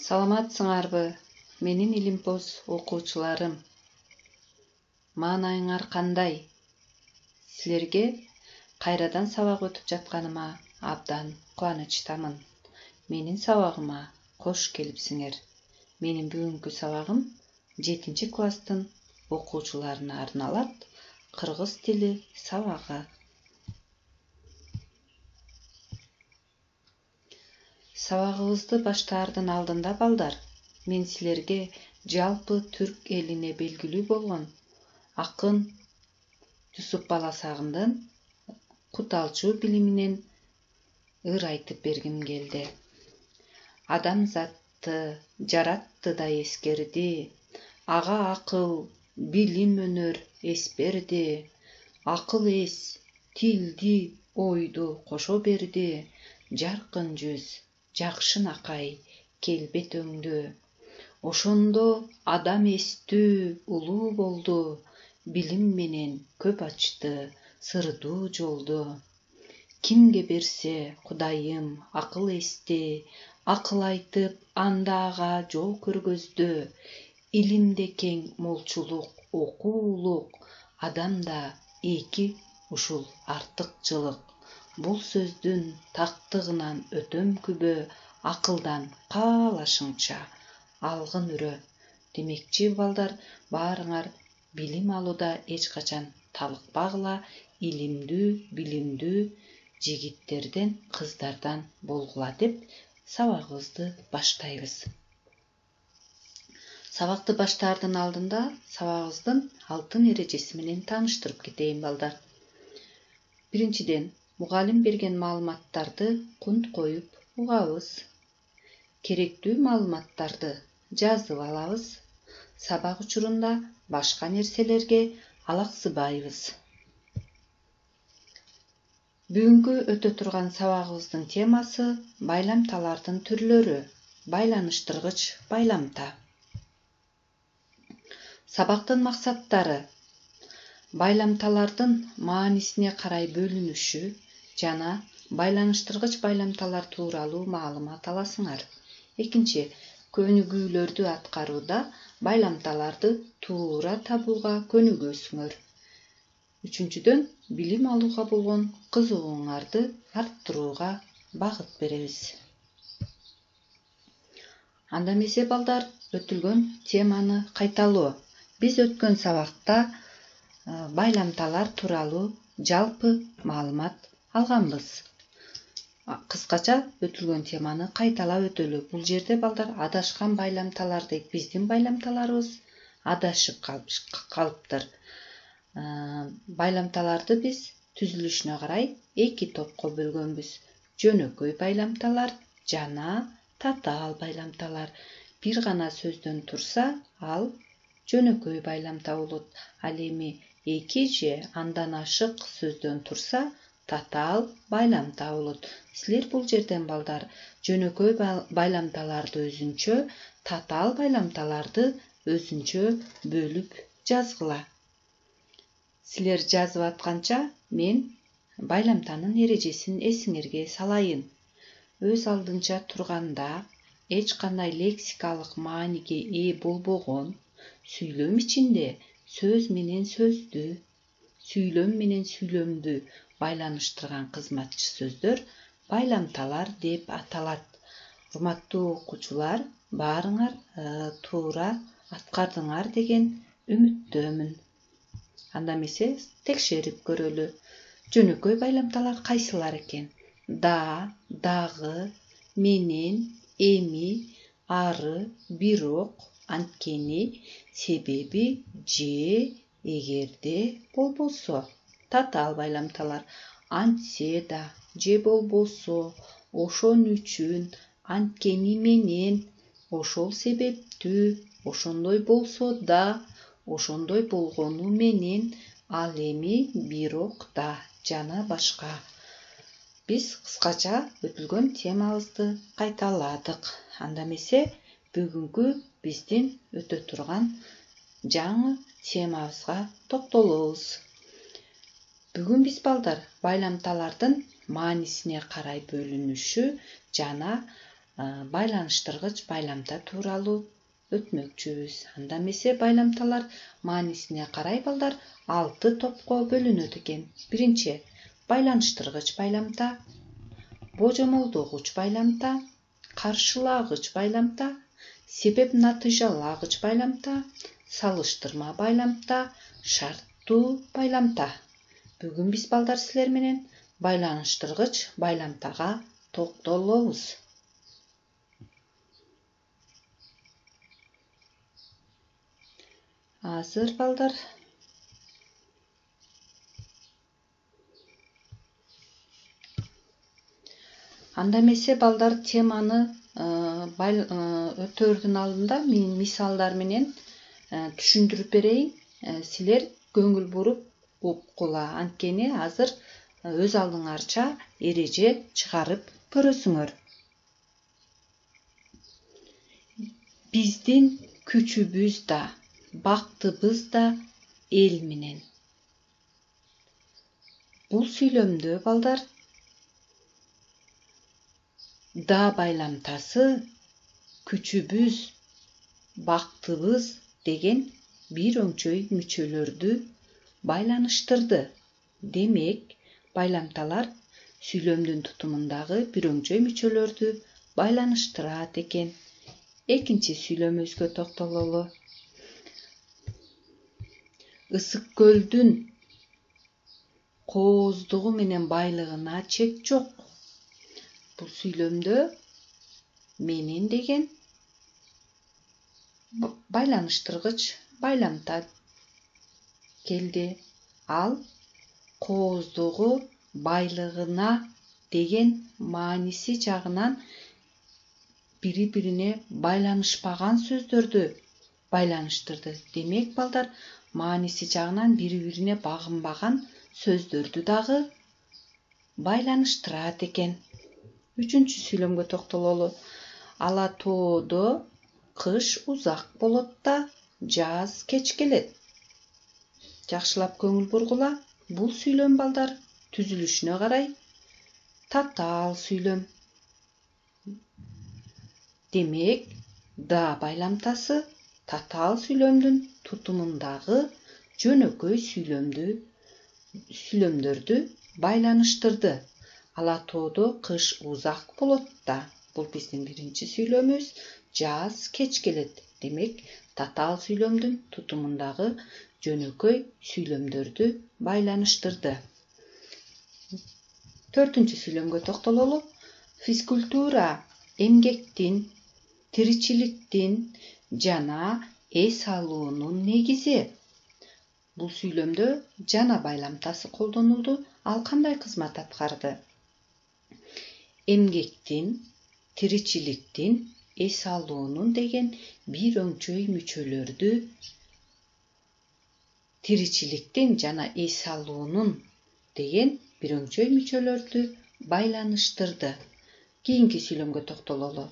Саламатсыңарбы, менин илимпоз окуучуларым. Маанайыңар кандай? Силерге кайрадан сабак өтүп жатканыма абдан кубанычтамын. Менин сабагыма кош келипсиңер. Менин бүгүнкү сабагым 7-класстын окуучуларына арналат. Кыргыз тили сабагы. Сабагыбызды баштаардын алдында балдар, мен силерге жалпы түрк элине белгилүү болгон акын Жусуп Баласагындын куталчу билиминен ыр айтып бергим келди. Адамзатты жаратты да эскерди, ага акыл, билим, өнөр эс берди. Акыл эс, тилди, ойду кошо берди. Жаркын жүз, жакшынакай, келбет өңдү. Ошондо адам эстүү, улуу болду. Билим менен көп ачты сырдуу жолду. Кимге берсе Кудайым акыл эсти, акыл айтып анда ага жол көргөздү. Илимде кең молчулук, окуулук, адамда эки ушул артыкчылык. Бул сөздүн тактыгынан өтөм күбө, акылдан каалашыңча алгын үрө. Демекчи балдар, баарыңар билим алууда эч качан талыкпагыла, илимдүү, билимдүү жигиттерден, кыздардан болгула деп сабагыбызды баштайбыз. Сабакты баштаардын алдында сабагыбыздын алтын эрежеси менен тааныштырып кетейин балдар. Биринчиден, мугалим берген маалыматтарды кунт коюп угабыз. Керектүү маалыматтарды жазып алабыз. Сабак учурунда башка нерселерге алаксыбайбыз. Бүгүнкү өтө турган сабагыбыздын темасы байламталардын түрлөрү, байланыштыргыч байламта. Сабактын максаттары: байламталардын маанисине карай бөлүнүшү жана байланыштыргыч байламталар тууралуу маалымат аласыңар. Экинчи, көнүгүүлөрдү аткарууда байламталарды туура табууга көнүгөсүңөр. Үчүнчүдөн, билим алууга болгон кызыгууңарды арттырууга багыт беребиз. Анда эмесе балдар, өтүлгөн теманы кайталоо. Биз өткөн сабакта байламталар тууралуу жалпы маалымат алганбыз. Кыскача өтүлгөн теманы кайталап өтөлү. Бул жерде балдар адашкан байламталар дейт. Биздин байламталарыбыз адашып калыптыр. Байламталарды биз түзүлүшүнө карай эки топко бөлгөнбүз. Жөнөкөй байламталар жана татаал байламталар. Бир гана сөздөн турса, ал жөнөкөй байламта болот. Ал эми эки же андан ашык сөздөн турса, татаал байламта болот. Силер бул жерден балдар жөнөкөй байламталарды өзүнчө, татаал байламталарды өзүнчө бөлүп жазгыла. Силер жазып атканча мен байламтанын эрежесин эсиңерге салайын. Өз алдынча турганда эч кандай лексикалык мааниге ээ болбогон, сүйлөм ичинде сөз менен сөздү, сүйлөм менен сүйлөмдү байланыштырган кызматчы сөздөр байламталар деп аталат. Урматтуу окуучулар, баарыңар туура аткардыңар деген үмүттөмүн. Анда эмесе текшерип көрөлү. Жөнөкөй байламталар кайсылар экен? Да, дагы, менен, эми, ары, бирок, анткени, себеби, же, эгерде болбосо. Татаал байламталар: антсе да, же болбосо, ошон үчүн, анткени менен, ошол себептүү, ошондой болсо да, ошондой болгону менен, ал эми, бирок да жана башка. Биз кыскача өтүлгөн темабызды кайталадык. Анда эмесе бүгүнкү биздин өтө турган жаңы темабызга токтолобуз. Бүгүн биз балдар байламталардын маанисине карай бөлүнүшү жана байланыштыргыч байламта тууралуу өтмөкчүбүз. Анда эмесе байламталар маанисине карай балдар 6 топко бөлүнөт экен. Биринчи байланыштыргыч байламта, божомолдогуч байламта, каршылагыч байламта, себеп натыйжалагыч байламта, салыштырма байламта, шарттуу байламта. Бүгүн биз балдар силер менен байланыштыргыч байламтага токтолобуз. Азыр балдар анда эмесе балдар теманы өтөөрдүн алдында мен мисалдар менен түшүндүрүп берейин. Силер көңүл буруп уккула. Анткени азыр өз алдыңарча эреже чыгарып көрөсүңөр. Биздин күчүбүз да, бактыбыз да эл менен. Бул сүйлөмдө балдар да байламтасы күчүбүз, бактыбыз деген бир өңчөй мүчөлөрдү байланыштырды. Демек, байламталар сүйлөмдүн тутумундагы бир өңчөй мүчөлөрдү байланыштырат экен. Экинчи сүйлөмүбүзгө токтололу. Ысык көлдүн кооздугу менен байлыгына чек жок. Бул сүйлөмдө менин деген байланыштыргыч байламта келди. Ал кооздугу байлыгына деген мааниси жагынан бири-бирине байланышпаган сөздөрдү байланыштырды. Демек, балдар, мааниси жагынан бири-бирине багынбаган сөздөрдү дагы байланыштырат экен. Үчүнчү сүйлөмгө токтололу. Ала тоодо кыш узак болот да, жаз кеч келет. Жакшылап көңүл бургула. Бул сүйлөм балдар түзүлүшүнө карай татаал сүйлөм. Демек, да байламтасы татаал сүйлөмдүн тутумундагы жөнөкөй сүйлөмдөрдү байланыштырды. Ала тоодо кыш узак болот да. Бул биздин биринчи сүйлөмүбүз. Жаз кеч келет. Демек, татаал сүйлөмдүн тутумундагы жөнөкөй сүйлөмдөрдү байланыштырды. Төртүнчү сүйлөмгө токтололу. Физкультура эмгектин, тиричиликтин жана эс алуунун негизи. Бул сүйлөмдө жана байламтасы колдонулду. Ал кандай кызмат аткарды? Эмгектин, тиричиликтин, эс алуунун деген бир өңчөй мүчөлөрдү, тиричиликтин жана эс алуунун деген бир өңчөй мүчөлөрдү байланыштырды. Кийинки сүйлөмгө токтололу.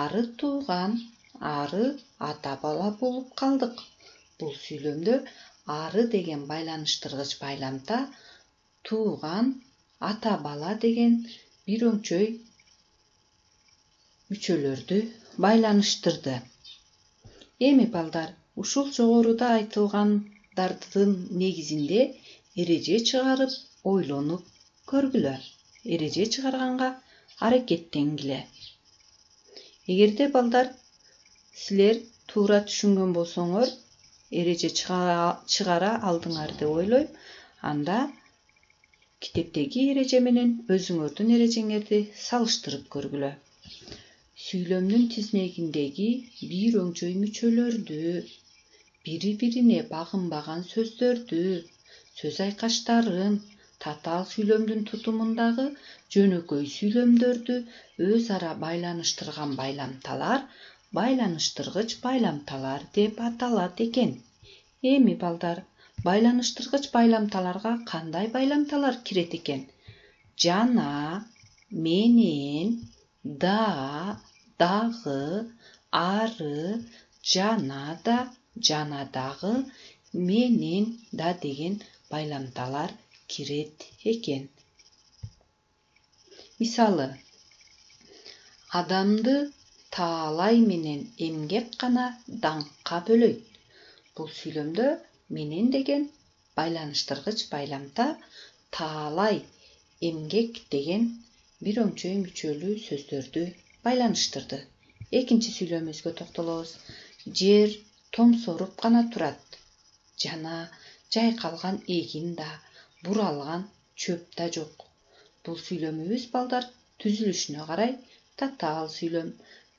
Ары тууган, ары ата бала болуп калдык. Бул сүйлөмдө ары деген байланыштыргыч байламта тууган, ата бала деген бир өңчөй мүчөлөрдү байланыштырды. Эми балдар, ушул жогоруда айтылгандардын негизинде эреже чыгарып ойлонуп көргүлө. Эреже чыгарганга аракеттенгиле. Эгерде балдар силер туура түшүнгөн болсоңор, эреже чыгара алдыңар деп ойлойм. Анда китептеги эреже менен өзүңөрдүн эрежеңерди салыштырып көргүлө. Сүйлөмдүн тизмегиндеги бир өңчөй мүчөлөрдү, бири-бирине багынбаган сөздөрдү, сөз айкаштарын, татаал сүйлөмдүн тутумундагы жөнөкөй сүйлөмдөрдү өз ара байланыштырган байламталар байланыштыргыч байламталар деп аталат экен. Эми балдар, байланыштыргыч байламталарга кандай байламталар кирет экен? Жана, менен, да, дагы, ары, жана да, жана дагы, менен да деген байламталар кирет экен. Мисалы, адамды таалай менен эмгек гана даңкка бөлөйт. Бул сүйлөмдө менен деген байланыштыргыч байламта таалай, эмгек деген бир өңчөй мүчөлүү сөздөрдү байланыштырды. Экинчи сүйлөмүбүзгө токтолобуз. Жер томсоруп гана турат. Жана жайкалган эгин да, буралган чөп да жок. Бул сүйлөмүбүз балдар түзүлүшүнө карай татаал сүйлөм.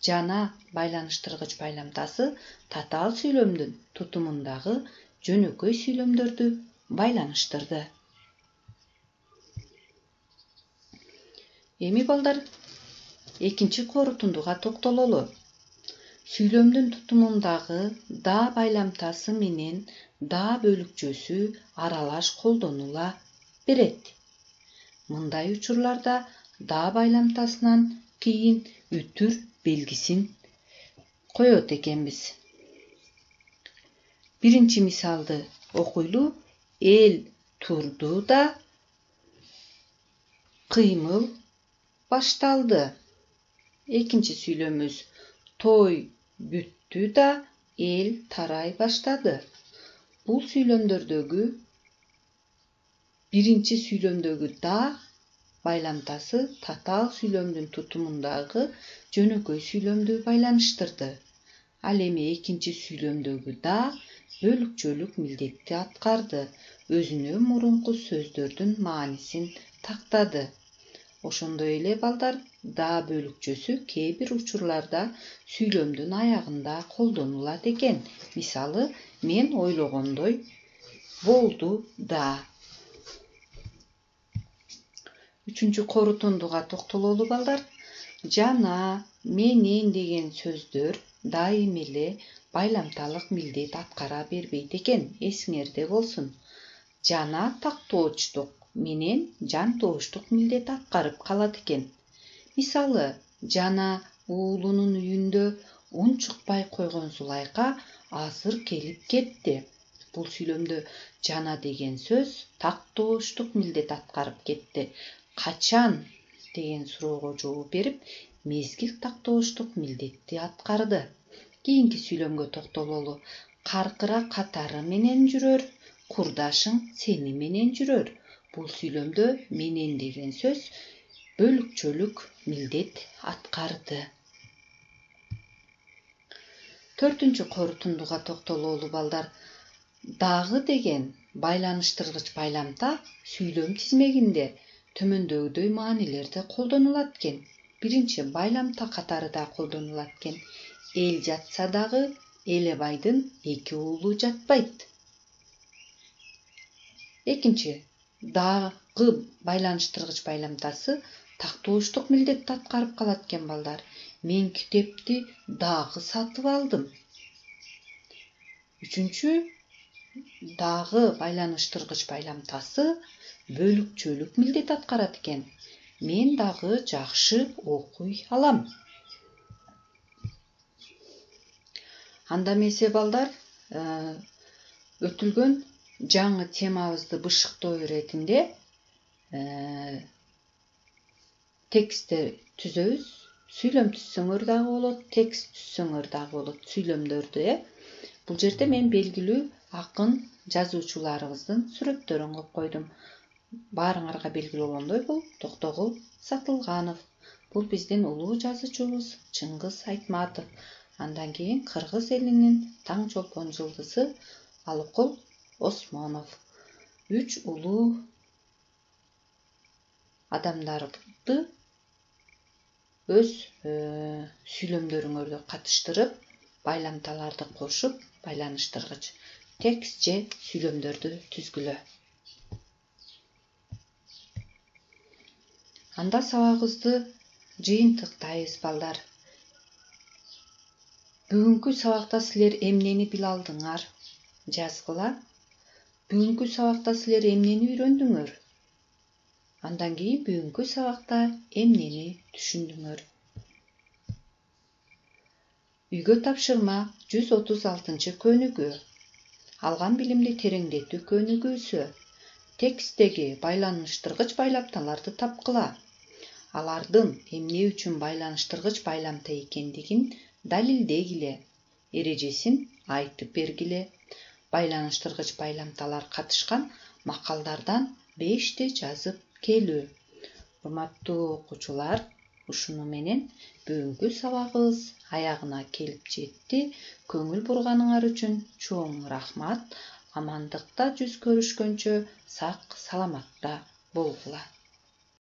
Жана байланыштыргыч байламтасы татаал сүйлөмдүн тутумундагы жөнөкөй сүйлөмдөрдү байланыштырды. Эми балдар экинчи корутундуга токтололу. Сүйлөмдүн тутумундагы да байламтасы менен да бөлүкчөсү аралаш колдонула берет. Мындай учурларда да байламтасынан кийин үтүр белгисин коет экенбиз. Биринчи мисалды окуйлу. Эл турду да кыймыл башталды. Экинчи сүйлөмүбүз. Той бүттү да эл тарай баштады. Бул сүйлөмдөрдөгү биринчи сүйлөмдөгү да байламтасы татаал сүйлөмдүн тутумундагы жөнөкөй сүйлөмдү байланыштырды. Ал эми экинчи сүйлөмдөгү да бөлүкчөлүк милдетти аткарды. Өзүнө мурунку сөздөрдүн маанисин тактады. Ошондой эле балдар да бөлүкчөсү кээ бир учурларда сүйлөмдүн аягында колдонулат экен. Мисалы, мен ойлогондой болду да. Үчүнчү корутундуга токтололу балдар. Жана, менен деген сөздөр дайым эле байламталык милдет аткара бербейт экен. Эсиңерде болсун. Жана тактоочтук менен жан тооштук милдет аткарып калат экен. Мисалы, жана уулунун үйүндө ун чыкпай койгон Зулайка азыр келип кетти. Бул сүйлөмдө жана деген сөз тактооштук милдет аткарып кетти. Качан деген суроого жооп берип, мезгил тактооштук милдетти аткарды. Кийинки сүйлөмгө токтололу. Каркыра катары менен жүрөр, курдашың сени менен жүрөр. Бул сүйлөмдө менен деген сөз бөлүкчөлүк милдет аткарды. Төртүнчү корутундуга токтололу балдар. Дагы деген байланыштыргыч байламта сүйлөм тизмегинде төмөндөгүдөй маанилерде колдонулат экен. Биринчи байламта катарыда колдонулат экен. Эл жатса дагы Элебайдын эки уулу жатпайт. Экинчи дагы байланыштыргыч байламтасы тактооштук милдетти аткарып калат экен балдар. Мен китепти дагы сатып алдым. Үчүнчү дагы байланыштыргыч байламтасы бөлүкчөлүк милдет аткарат экен. Мен дагы жакшы окуй алам. Анда эмесе балдар, өтүлгөн жаңы темабызды бышыктоо иретинде тексттер түзөбүз. Сүйлөм түзсөңөр дагы болот, текст түзсөңөр дагы болот, сүйлөмдөрдү. Бул жерде мен белгилүү акын жазуучуларыбыздын сүрөттөрүн коюп койдум. Баарыңарга белгилүү болгондой, бул Токтогул Сатылганов. Бул биздин улуу жазуучубуз Чыңгыз Айтматов. Андан кийин кыргыз элинин таң чолпон жылдызы Алыкул Осмонов. 3 улуу адамдарды өз сүйлөмдөрүңөрдө катыштырып, байламталарды кошуп, байланыштыргыч текст же сүйлөмдөрдү түзгүлө. Анда сабагыбызды жыйынтыктайбыз балдар. Бүгүнкү сабакта силер эмнени биле алдыңар? Жазгыла. Бүгүнкү сабакта силер эмнени үйрөндүңөр? Андан кийин бүгүнкү сабакта эмнени түшүндүңөр? Үйгө тапшырма 136 көнүгүү. Алган билимди тереңдетүү көнүгүүсү. Тексттеги байланыштыргыч байламталарды тапкыла. алардын эмне үчүн байланыштыргыч байламда экендигин далилдегиле, эрежесин айтып бергиле. Байланыштыргыч байламдалар катышкан макалдардан 5 жазып келүү. Урматтуу окуучулар, ушуну менен бүгүнкү сабагыбыз аягына келип жетти. Көңүл бурганыңар үчүн чоң рахмат. Амандыкта жүз көрүшкөнчө сак саламатта болгула.